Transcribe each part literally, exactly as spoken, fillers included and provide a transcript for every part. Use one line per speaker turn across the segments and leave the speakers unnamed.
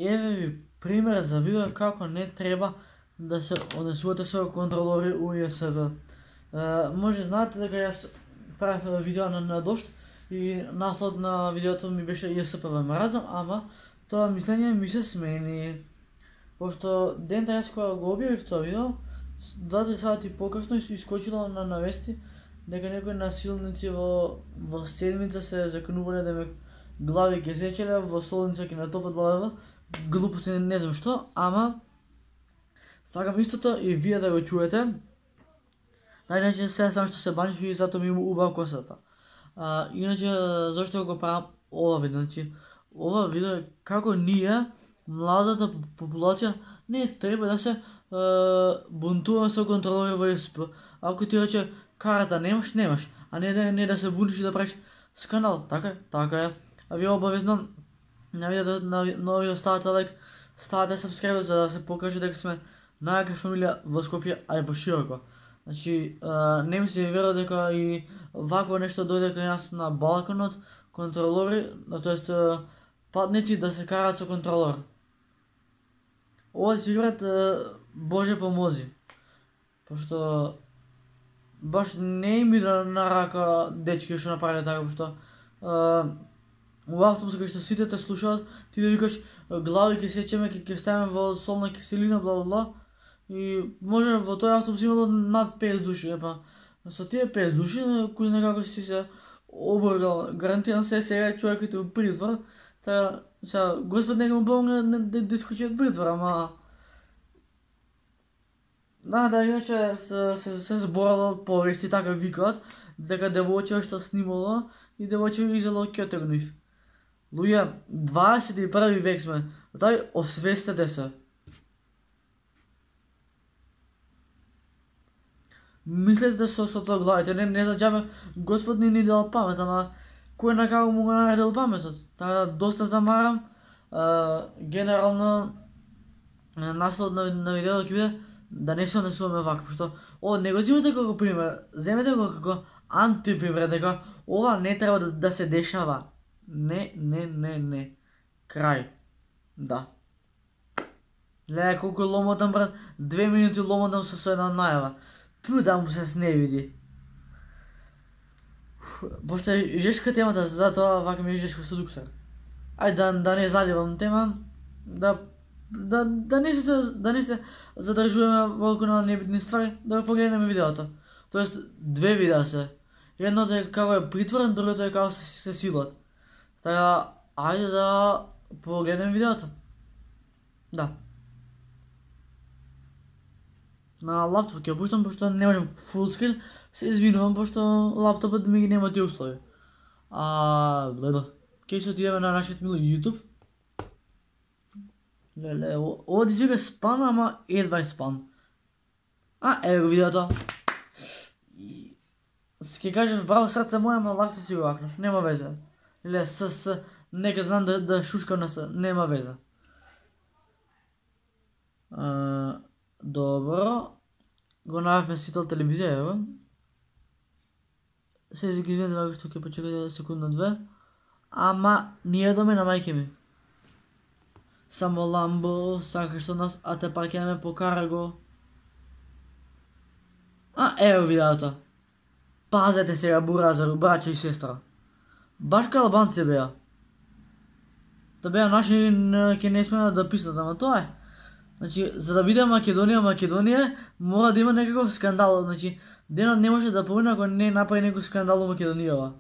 еве ви пример за видео како не треба да се однесувате со контролори у Ј С Б. Може знаете дека јас правев видео на, на дошт и наслов на видеото ми беше Ј С П ве мразам, ама тоа мислење ми се смени. Пошто дента јас кога го објавив тоа видео, два-три сати покасно искочило на навести дека некои насилници во во седмица се заканувале да ме глави ќе сечеле, во солница ќе натопат глава, глупости не знам што, ама сакам истото и вие да го чуете. Да, иначе сега само што се баниш и затоа ми има убава косата. А, иначе зашто го правам ова видео? Значи, ова видео е како ние, младата популација, не треба да се е, бунтуваме со контролори во Ј С П. Ако ти рече карата немаш, немаш, а не да не да се буниш и да правиш скандал, така е, така е. А вие обавезно на видеото на новиот ставате лайк, ставате сабскрайб за да се покаже дека сме најака фамилија во Скопје, а и пошироко. Значи, а, не ми се верува дека и вакво нешто дојде кај нас на Балканот, контролори, тоест патници да се караат со контролор. Ова си играат Боже помози. Пошто баш не им иде на рака дечки што направиле така, пошто во автобус кај што сите те слушаат, ти да викаш глави ќе сечеме, ќе ќе ставиме во солна киселина, бла бла бла. И може во тој автобус имало над петдесет души, епа со тие петдесет души, кој знае како си се оборгал, гарантирам се сега човекот во притвор, така сега Господ нека му помогне да, да искочи од притвор, ама да, да, иначе се, се, се зборало повести, така викаат, дека девојче што снимало и девојче изело ќетегнив. Луѓе, дваесет и први век сме, дај освестете се. Мислете со со тоа главите, не, не за џабе Господ ни ни дал памет, ама кој на како му го наредил паметот? Така доста замарам, а, генерално наслов на, на видеото ќе биде да не се однесуваме вака, пошто ова не го земете како пример, земете го како антипример, дека ова не треба да, да се дешава. Не, не, не, не. Крај. Да. Гледај колку ломотам, брат, две минути ломотам со со една најава. Пу да му се сневиди. Пошто е жешка темата, затоа вака ми е жешко со дуксер. Ајде да, да не заливам тема, да да да не се да не се задржуваме волку на небитни ствари, да го погледнеме видеото. Тоест две видеа се. Едното е како е притворен, другото е како се, се силат. Така, ајде да погледнеме видеото. Да. На лаптоп ќе пуштам, пошто не можам фулскрин, се извинувам, пошто лаптопот ми ги нема тие услови. А, гледа, ќе се отидеме на нашиот мил YouTube. Леле, ова ти свика спан, ама едва е спан. А, еве го видеото. Ке кажеш браво срце моја, ама лакто си го акнав, нема везе. Леле, с, с, нека знам да, да шушкам на с, нема везе. А, добро, го најавме сител телевизија, ево. Се ги извинете вака што ќе почекате секунда две. Ама ние доме на мајке ми. Само ламбо, сакаш со нас, а те пак ја ме покара го. А, ево видеото. Пазете сега, буразер, браќа и сестра. Баш кај албанци беа. Да беа наши, ќе не смеат да писнат, ама тоа е. Значи, за да биде Македонија, Македонија, мора да има некаков скандал. Значи, денот не може да помине ако не направи некој скандал во Македонија.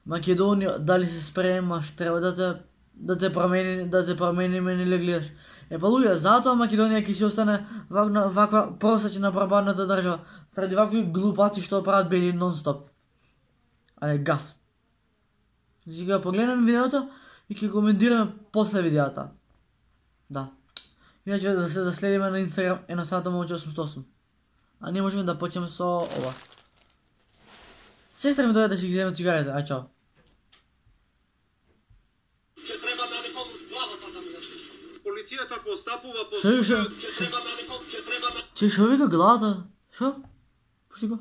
Македонија, дали се спремаш, треба да те да те промени, да те промениме или гледаш. Е па луѓе, затоа Македонија ќе си остане ваква, ваква просачна прабарната држава, среди вакви глупаци што прават бели нон-стоп. Але газ. Значи ќе погледнеме видеото и ќе коментираме после видеото. Да. Иначе да се заследиме на Инстаграм едноставно момче осумстотини и осум. А ние можеме да почнеме со ова. Сестра ми дојде да си ги земе цигарите, ај чао.
Че треба да некому главата да ми засече. Полицијата постапува по
Шо, шо?
че треба да некому, че треба да
Че шо вика главата? Шо? Пушти го.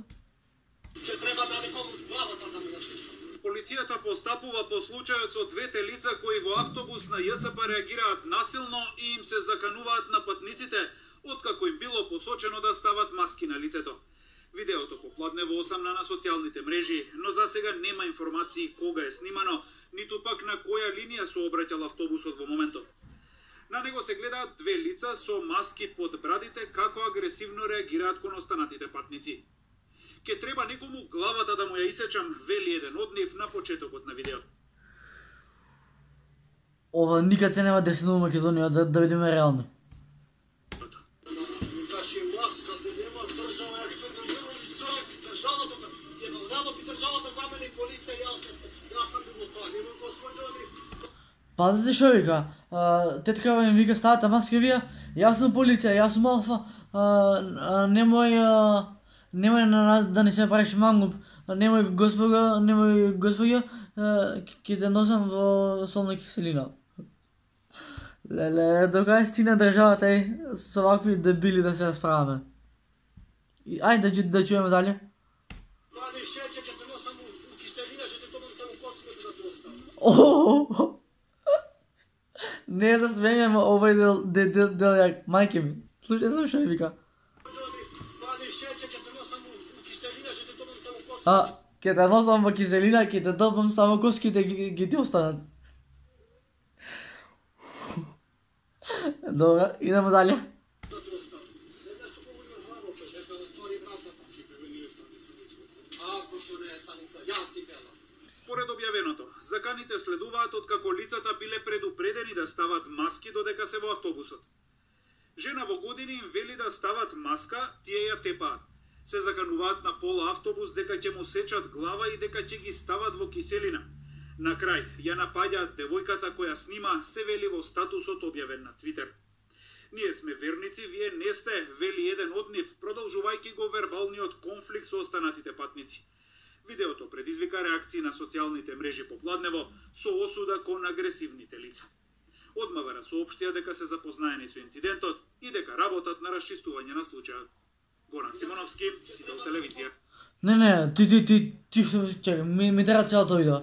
че треба да некому главата да ми засече. Полицијата Полицијата постапува по случајот со двете лица кои во автобус на Ја С П реагираат насилно и им се закануваат на патниците, откако им било посочено да стават маски на лицето. Видеото попладне во осам на социјалните мрежи, но засега нема информации кога е снимано, ниту пак на која линија се обраќал автобусот во моментот. На него се гледаат две лица со маски под брадите како агресивно реагираат кон останатите патници. Ке треба некому главата да му ја исечам, вели еден од нив на почетокот на видеото.
Ова никад се нема десено во Македонија, да, да видиме реално. Пазите шо вика, теткава им вика ставате маски вие, јас сум полиција, јас сум Алфа, немој, немој на нас да не се правиш мангуп, немој господа, немој господја, ќе те носам во солна киселина. Леле, до кај стигна државата е со вакви дебили да се расправаме. Ајде да, да чуеме дале.
Дали шеќе ќе те носам у киселина, ќе те топам таму коцката да те оставам.
О, не за сменјам овој дел, дел, дел, дел ја мајке ми. Слушај сам шо вика. А, ќе те носам во киселина, ќе те топам само коските ги, ги ти останат. Добра, идемо дале.
Според објавеното, заканите следуваат откако лицата биле предупредени да стават маски додека се во автобусот. Жена во години им вели да стават маска, тие ја тепаат. Се закануваат на пола автобус дека ќе му сечат глава и дека ќе ги стават во киселина. На крај, ја напаѓаат девојката која снима, се вели во статусот објавен на Твитер. Ние сме верници, вие не сте, вели еден од нив, продолжувајќи го вербалниот конфликт со останатите патници. Видеото предизвика реакции на социјалните мрежи попладнево со осуда кон агресивните лица. Од МВР соопштија дека се запознаени со инцидентот и дека работат на расчистување на случајот. Горан Симоновски, Сител телевизија.
Не, не, ти, ти, ти, ти што чекай, ми, ми треба целото видео.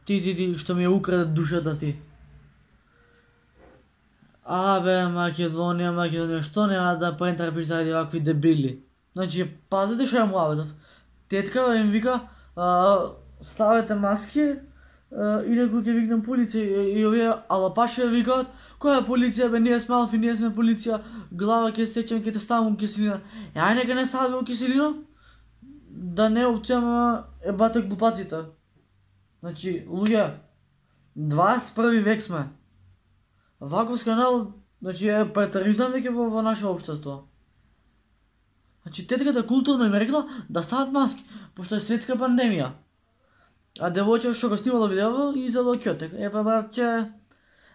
Ти, ти, ти, што ми ја украде душата ти. Абе, Македонија, Македонија, што нема да поентрпиш заради вакви дебили? Значи, пазите што ја муаветов. Теткава им вика, а, ставете маски, а, инаку ќе викнем полиција, и, и овие алапаши викаат, која е полиција бе, ние сме Алфи, ние сме полиција, глава ќе сечем, ќе те ставам у киселина. Е, ај нека не ставаме у киселина, да не опцијама е бате глупаците. Значи, луѓе, дваесет и први век сме. Ваков скандал, значи е претаризам веќе во, во наше општество. Значи, тетката културно им рекла да стават маски, пошто е светска пандемија. А девојче што го снимало видео и изело ќотек. Е, па братче,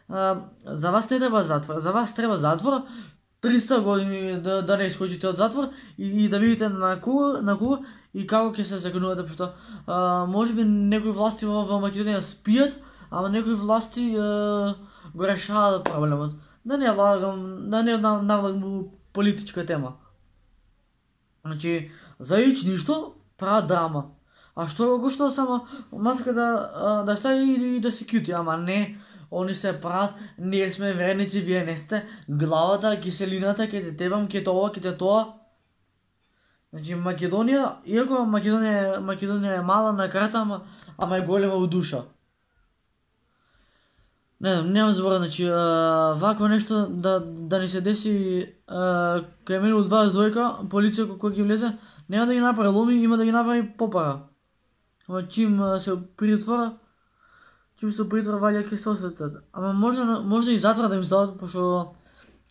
а, за вас не треба затвор, за вас треба затвор, триста години да, да не искочите од затвор и, и да видите на кого, на кого и како ќе се законувате, пошто а, можеби некои власти во, во Македонија спијат, ама некои власти а, го решаваат проблемот. Да не влагам, да не навлагам у политичка тема. Значи, за ич ништо прават драма. А што го што само маска да да стави и да се кјути, ама не, они се прават, ние сме верници, вие не сте, главата, киселината, ке те тебам, ке тоа, ке те тоа. Значи, Македонија, иако Македонија, Македонија е мала на карта, ама, ама е голема во душа. Не знам, нема збора, значи, а, вакво нешто да, да ни се деси а, кај мене од дваесет и двојка, полиција кој ќе влезе, нема да ги направи ломи, има да ги направи попара. Ама чим а, се притвора, чим се притвора ваѓа ке се осветат. Ама може, може и затвор да им здават, пошто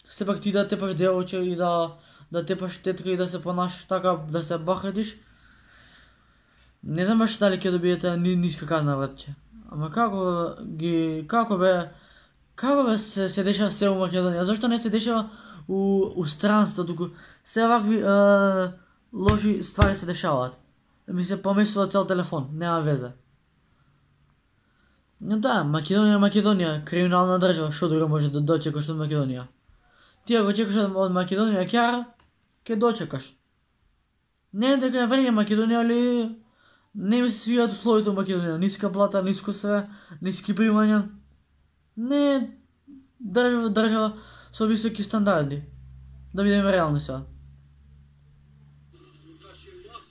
сепак ти да тепаш девојче и да, да тепаш тетка и да се понашаш така, да се бахретиш. Не знам баш дали ќе добиете ни, ниска казна, братче. Ама како ги како бе како бе се, се дешава се у Македонија? Зошто не се дешава у у странство, туку се вакви е, лоши ствари се дешаваат. Ми се помесува цел телефон, нема везе. Но да, Македонија, Македонија, криминална држава, што друго може да дочекаш од Македонија? Ти ако чекаш од Македонија кјара, ќе дочекаш. Не дека е врење Македонија, али Не ми се свијаат условите во Македонија, ниска плата, ниско све, ниски примања. Не е држава, држава со високи стандарди. Да бидеме реални сега.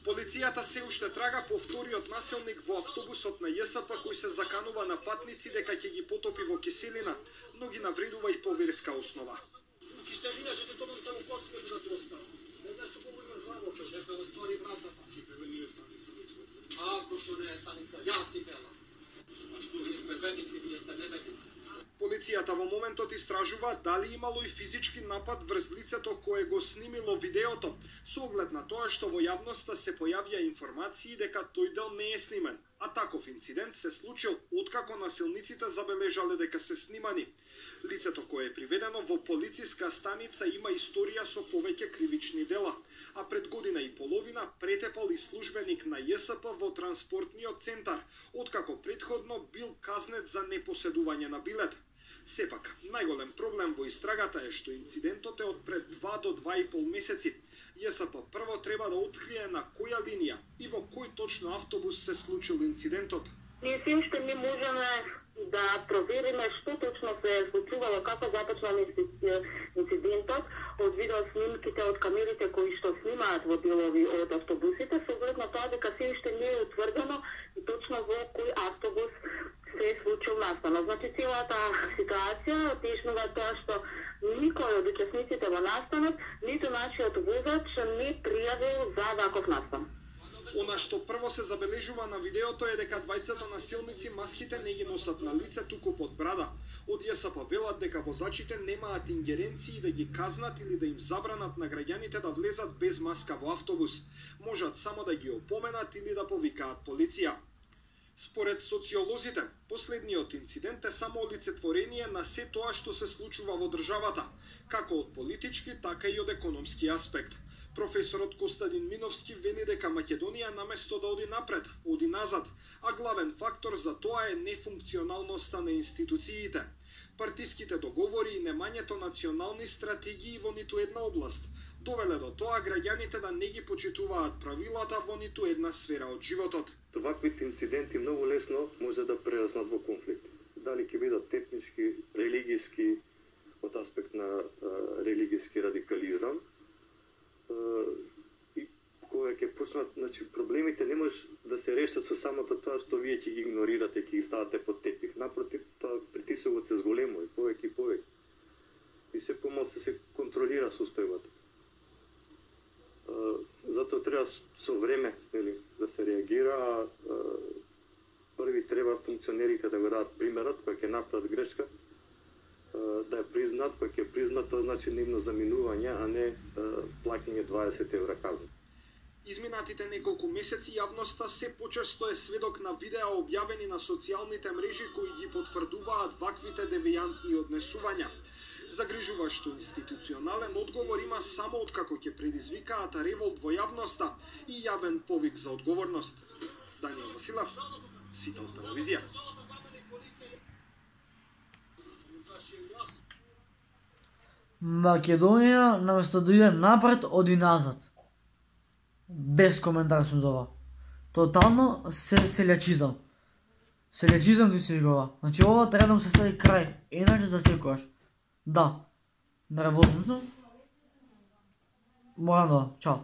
Полицијата се уште трага по вториот насилник во автобусот на ЈСП кој се заканува на патници дека ќе ги потопи во киселина, но ги навредува и по верска основа. Киселина ќе те топам таму коцка да доста. Не знаеш што го имаш главо, ќе се отвори вратата. Ќе превени станица. А што не е станица, јас си бела. А што ви сте ведници, вие сте неведници. Полицијата во моментот истражува дали имало и физички напад врз лицето кое го снимило видеото, со оглед на тоа што во јавноста се појавија информации дека тој дел не е снимен, а таков инцидент се случил откако насилниците забележале дека се снимани. Лицето кое е приведено во полициска станица има историја со повеќе кривични дела, а пред година и половина претепал и службеник на ЈСП во транспортниот центар, откако претходно бил казнет за непоседување на билет. Сепак, најголем проблем во истрагата е што инцидентот е од пред два до два и пол месеци. ЈСП прво треба да открие на која линија и во кој точно автобус се случил инцидентот.
Ние се уште не можеме да провериме што точно се е случувало, како започнал инцидентот, од видеоснимките од камерите кои што снимаат во делови од автобусите, со оглед на тоа дека се уште не е утврдено и точно во кој автобус се е случил настанот. Значи, целата ситуација отежнува тоа што никој од учесниците во настанот, ниту нашиот возач не пријавил за ваков настан.
Она што прво се забележува на видеото е дека двајцата насилници маските не ги носат на лице, туку под брада. Од ЈСП велат дека возачите немаат ингеренции да ги казнат или да им забранат на граѓаните да влезат без маска во автобус. Можат само да ги опоменат или да повикаат полиција. Според социолозите, последниот инцидент е само олицетворение на се тоа што се случува во државата, како од политички, така и од економски аспект. Професорот Костадин Миновски вели дека Македонија наместо да оди напред, оди назад, а главен фактор за тоа е нефункционалноста на институциите. Партиските договори и немањето национални стратегии во ниту една област довеле до тоа граѓаните да не ги почитуваат правилата во ниту една сфера од животот.
Ваквите инциденти многу лесно може да прераснат во конфликт. Дали ќе бидат етнички, религиски, од аспект на а, религиски радикализам, и кога ќе почнат, значи проблемите не може да се решат со самото тоа што вие ќе ги игнорирате, ќе ги ставате под тепих. Напротив, тоа притисокот се зголемува и повеќе и повеќе. И се помалку се контролира состојбата. Затоа треба со време, нели, да се реагира, а први треба функционерите да го дадат примерот, кога ќе направат грешка, да ја признат, кога ќе признат, тоа значи нивно заминување, а не плаќање дваесет евра казна.
Изминатите неколку месеци јавноста се почесто е сведок на видеа објавени на социјалните мрежи кои ги потврдуваат ваквите девијантни однесувања. Загрижувашто институционален одговор има само откако ќе предизвикаат револт во јавноста и јавен повик за одговорност. Даниел Василев, Сител телевизија.
Македонија наместо да иде напред, оди назад. Без коментар сум за ова. Тотално се селјачизам. Селјачизам ти се викува. Значи ова треба да му се стави крај, иначе за секојаш. Да, нервозен сум. Морам да, чао.